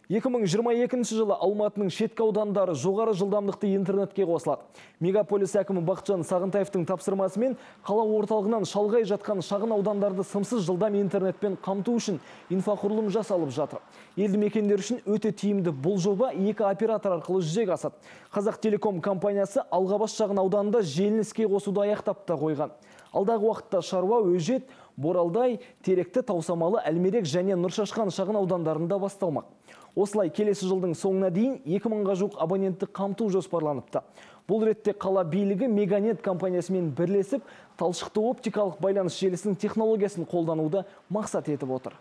2022 жылы Алматының шеткі аудандары жоғары жылдамдықты интернетке қосылады. Мегаполис әкімі Бақытжан Сағынтаевтың тапсырмасымен қала орталығынан шалғай жатқан шағын аудандарды сымсыз жылдам интернетпен қамту үшін инфрақұрылым жасалып жатыр. Елді мекендер үшін өте тиімді бұл жоба екі оператор арқылы жүзеге асады. Қазақтелеком компаниясы Алғабас шағын ауданында желіні іске қосуды аяқтап та қойған. Алдағы уақытта Шаруа, Өжет, Боралдай, Теректі, Таусамалы, Әлмерек және Нұршашқан шағын аудандарында басталмақ. Осылай келесі жылдың соңына дейін 2000-ға жуық абонентті қамту жоспарланыпты. Бұл ретте қала билігі Меганет компаниясымен бірлесіп, талшықты оптикалық байланыс желісінің технологиясын қолдануды мақсат етіп отыр.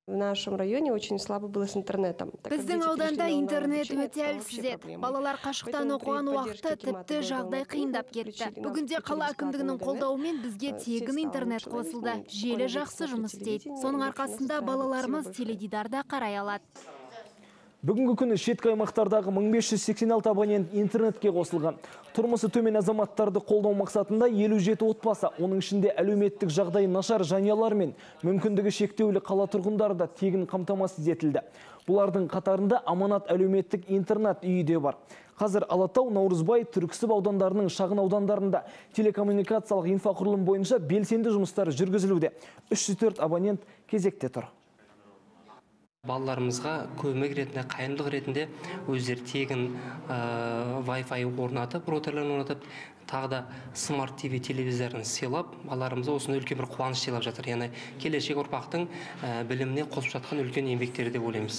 В нашем районе очень слабо было с интернетом. Біздің ауданда интернет өте әлсіз еді. Балалар қашықтан оқыған уақытта тіпті жағдай қиындап кетті. Бүгінде қала әкімдігінің қолдауымен бізге тегін интернет қосылды. Желі жақсы жұмыс істейді. Соның арқасында балаларымыз теледидарда қарай алады. Бүгінгі күні шеткі аймақтардағы 1586 абонент интернетке қосылған. Тұрмысы төмен азаматтарды қолдау мақсатында 57 отбасы, оның ішінде әлеуметтік жағдайы нашар жанұялар мен мүмкіндігі шектеулі қала тұрғындары да тегін қамтамасыз етілді. Бұлардың қатарында Аманат әлеуметтік интернет үйі де бар. Қазір Алатау, Наурызбай, Түрксіб аудандарының шағын аудандарында телекоммуникациялық инфрақұрылым бойынша белсенді жұмыстар жүргізілуде. 304 абонент кезекте тұр. Балаларымызға көмек ретінде, қайырымдылық ретінде өздері тегін Wi-Fi орнатып, роутерлерін орнатып, тағы да смарт TV телевизорын сыйлап, балаларымызға осыны үлкен бір қуаныш сыйлап жатыр. Яғни келешек ұрпақтың біліміне қосып жатқан үлкен еңбектері деп ойлаймыз.